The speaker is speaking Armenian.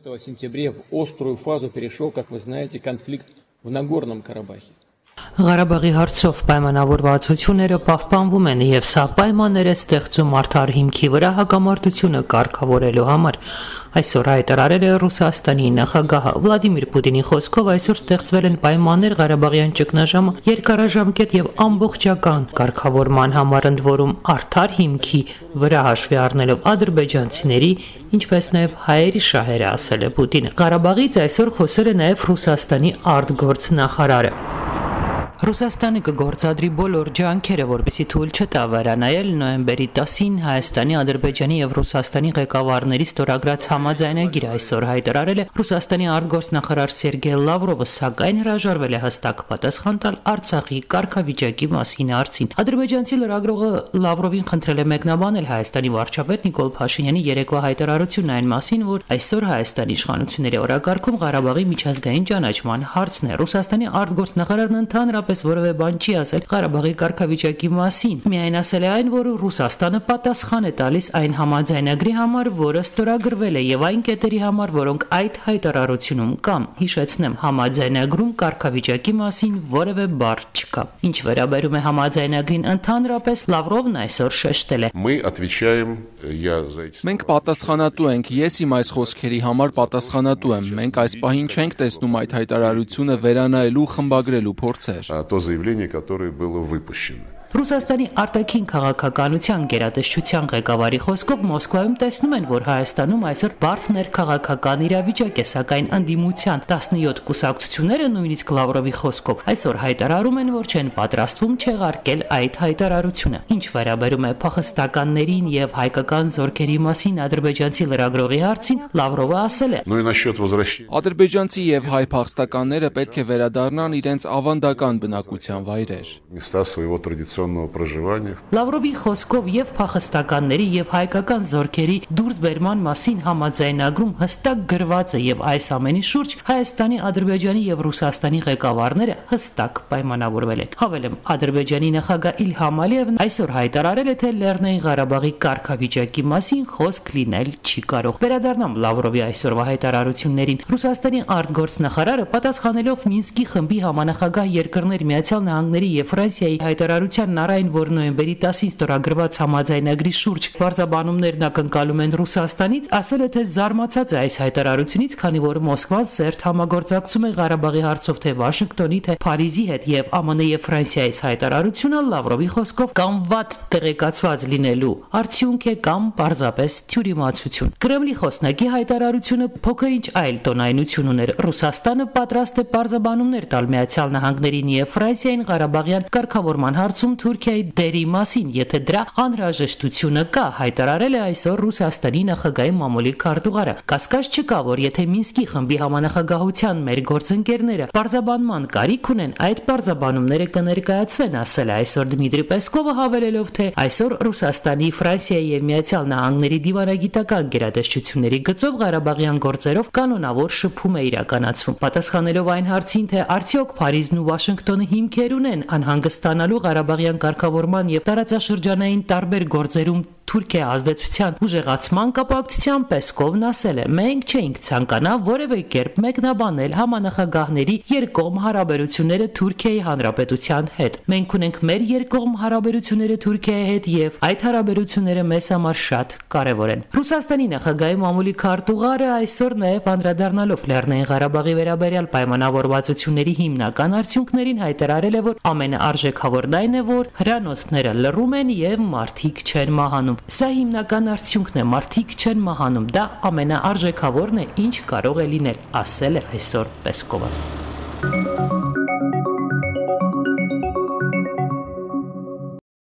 В сентябре в острую фазу перешел, как вы знаете, конфликт в Нагорном Карабахе. Ղարաբաղի հարցով պայմանավորվածությունները պահպանվում են եւ սա պայմաններ է ստեղծում արդար հիմքի վրա հակամարտությունը կարգավորելու համար։ Այսօր հայտարարել է Ռուսաստանի նախագահը Վլադիմիր Պուտինի խոսքով այսօր ստեղծվել են պայմաններ Ղարաբաղյան ճգնաժամը երկարաժամկետ եւ ամբողջական կարգավորման համար, ընդ որում արդար հիմքի վրա հաշվի առնելով ադրբեջանցիների, ինչպես նաեւ հայերի շահերը, ասել է Պուտինը։ Ղարաբաղից այսօր խոսել է նաեւ Ռուսաստանի արտգործնախարարը։ Ռուսաստանը կգործադրի բոլոր ջանքերը, որպեսզի թույլ չտա վերանայել նոյեմբերի 10-ին Հայաստանի, Ադրբեջանի եւ Ռուսաստանի ղեկավարների ստորագրած համաձայնագիրը, այսօր հայտարարել է Ռուսաստանի արտգործնախարար Սերգեյ Լավրովը, սակայն հրաժարվել է հստակ պատասխան տալ Արցախի կարգավիճակի մասին հարցին։ Ադրբեջանցի լրագրողը Լավրովին խնդրել է մեկնաբանել Հայաստանի վարչապետ Նիկոլ Փաշինյանի երեկվա հայտարարությունն այն մասին, որ այսօր Հայաստանի իշխանությունների օրակարգում Ղարաբաղի միջազգային ճանաչման հարցն է։ Ռուսաստանի արտգործնախարարն ընդհանրապես որևէ բան չի ասել Ղարաբաղի կարգավիճակի մասին։ Միայն ասել է այն, որ Ռուսաստանը պատասխան է տալիս այն համաձայնագրի համար, որը ստորագրվել է, եւ այն կետերի համար, որոնք այդ հայտարարությունում կան։ Հիշեցնեմ, համաձայնագրում կարգավիճակի մասին որևէ բառ չկա։ Ինչ վերաբերում է համաձայնագրին ընդհանրապես, Լավրովն այսօր շեշտել է. Մենք պատասխանատու ենք, ես իմ այս խոսքերի համար պատասխանատու եմ։ Մենք այս պահին չենք տեսնում այդ հայտարարությունը վերանայելու, խմբագրելու փորձեր։ То заявление, которое было выпущено. Ռուսաստանի արտաքին քաղաքականության գերատեսչության ղեկավարի խոսքով Մոսկվայում տեսնում են, որ Հայաստանում այսօր բարդ ներքաղաքական իրավիճակ է, սակայն ընդդիմության 17 կուսակցությունները, նույնիսկ Լավրովի խոսքով, այսօր հայտարարում են, որ չեն պատրաստվում չեղարկել այդ հայտարարությունը։ Ինչ վերաբերում է փախստականներին եւ հայկական զորքերի մասին ադրբեջանցի լրագրողի հարցին, Լավրովը ասել է. Ադրբեջանցի եւ հայ փախստականները պետք է վերադառնան իրենց ավանդական բնակության վայրեր։ Լավրովի խոսքով եւ փախստականների եւ հայկական զորքերի դուրսբերման մասին համաձայնագրում հստակ գրված է եւ այս ամենի շուրջ Հայաստանի, Ադրբեջանի եւ Ռուսաստանի ղեկավարները հստակ պայմանավորվել են։ Հավելեմ, Ադրբեջանի նախագահ Իլհամ Ալիևն այսօր հայտարարել է, թե Լեռնային Ղարաբաղի կարգավիճակի մասին խոսք լինել չի կարող։ Վերադառնամ Լավրովի այսօրվա հայտարարություններին։ Ռուսաստանի արտգործնախարարը պատասխանելով Մինսկի խմբի համանախագահ երկրներ Միացյալ Նահանգների եւ Ֆրանսիայի հայտարարությանն առայն, որ նոյեմբերի 10-ին ստորագրված համաձայնագրի շուրջ բարձաբանումներն ակնկալում են Ռուսաստանից, ասել է, թե զարմացած է այս հայտարարությունից, քանի որ Մոսկվան սերտ համագործակցում է Ղարաբաղի հարցով թե Վաշինգտոնի, թե Փարիզի հետ եւ ԱՄՆ եւ Ֆրանսիայի հայտարարությունը Լավրովի խոսքով կամ վատ տեղեկացված լինելու արդյունք է կամ պարզապես թյուրիմացություն։ Կրեմլի խոսնակի հայտարարությունը փոքր-ինչ այլ տոնայնություն ուներ։ Ռուսաստանը պատրաստ է պարզաբանումներ տալ Միացյալ Նահանգներին եւ Ֆրանսիային Ղարաբաղյան կարգավորման հարցում Թուրքիայի դերի մասին, եթե դրա անհրաժեշտությունը կա, հայտարարել է այսօր Ռուսաստանի նախագահի մամուլի քարտուղարը։ Կասկած չկա, որ եթե Մինսկի խմբի համանախագահության մեր գործընկերները պարզաբանման կարիք ունեն, այդ պարզաբանումները կներկայացվեն, ասել է այսօր Դմիտրի Պեսկովը, հավելելով, թե այսօր Ռուսաստանի, Ֆրանսիայի եւ Միացյալ Նահանգների դիվանագիտական գերատեսչությունների գծով Ղարաբաղյան գործերով կանոնավոր շփում է իրականացվում։ Պատասխանելով այն հարցին, թե արդյոք Փարիզն ու Վաշինգտոնը հիմքեր ունեն անհանգստանալու Ղարաբաղյան կարգավորման եւ տարածաշրջանային տարբեր գործերում Թուրքիայի ազդեցության ուժեղացման կապակցությամբ Պեսկովն ասել է. մենք չենք ցանկանա որևէ կերպ մեկնաբանել համանախագահների երկկողմ հարաբերությունները Թուրքիայի Հանրապետության հետ։ Մենք ունենք մեր երկկողմ հարաբերությունները Թուրքիայի հետ եւ այդ հարաբերությունները մեզ համար շատ կարեւոր են։ Ռուսաստանի նախագահի մամուլի քարտուղարը այսօր նաեւ անդրադառնալով Լեռնային Ղարաբաղի վերաբերյալ պայմանավորվածությունների հիմնական արդյունքներին հայտարարել է, որ ամենաարժեքավորն այն է, որ հրանոթները լռում են եւ մարդիկ չեն մահանում։ Սա հիմնական արդյունքն է, մարդիկ չեն մահանում, դա ամենաարժեքավորն է, ինչ կարող է լինել, ասել է այսօր Պեսկովը։